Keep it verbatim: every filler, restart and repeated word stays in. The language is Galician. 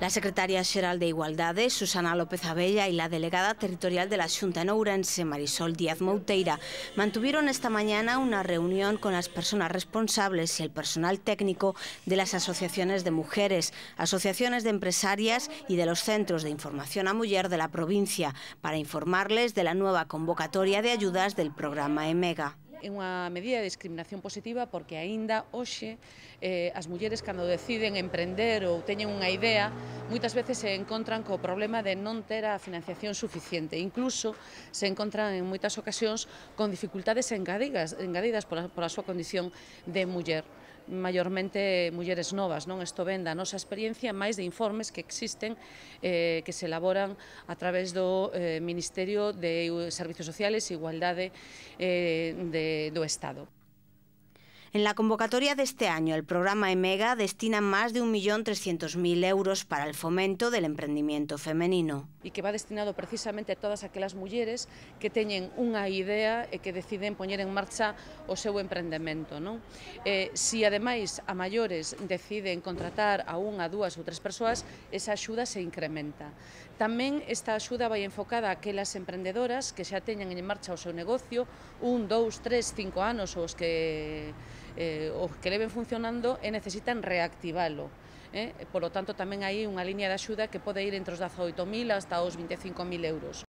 La secretaria xeral de Igualdade, Susana López Abella, y la delegada territorial de la Xunta en Ourense, Marisol Díaz Mouteira, mantuvieron esta mañana una reunión con las personas responsables y el personal técnico de las asociaciones de mujeres, asociaciones de empresarias y de los centros de información a muller de la provincia para informarles de la nueva convocatoria de ayudas del programa EMEGA. É unha medida de discriminación positiva porque aínda hoxe eh, as mulleres cando deciden emprender ou teñen unha idea moitas veces se encontran co problema de non ter a financiación suficiente, incluso se encontran en moitas ocasións con dificultades engadidas, engadidas pola, pola súa condición de muller, maiormente mulleres novas, non? Isto ven da nosa experiencia máis de informes que existen eh, que se elaboran a través do eh, Ministerio de Servicios Sociales e Igualdade eh, de, do Estado. En la convocatoria de este año, el programa EMEGA destina más de un millón trescientos mil euros para el fomento del emprendimiento femenino. E que va destinado precisamente a todas aquelas mulleres que teñen unha idea e que deciden poñer en marcha o seu emprendemento, non? Eh, si ademais a maiores deciden contratar a unha, dúas ou tres persoas, esa axuda se incrementa. Tamén esta axuda vai enfocada a aquelas emprendedoras que xa teñen en marcha o seu negocio un, dous, tres, cinco anos ou os que Eh, os que leven funcionando e necesitan reactivalo. Eh? Por lo tanto, tamén hai unha línea de axuda que pode ir entre os dezaoito mil hasta os vinte e cinco mil euros.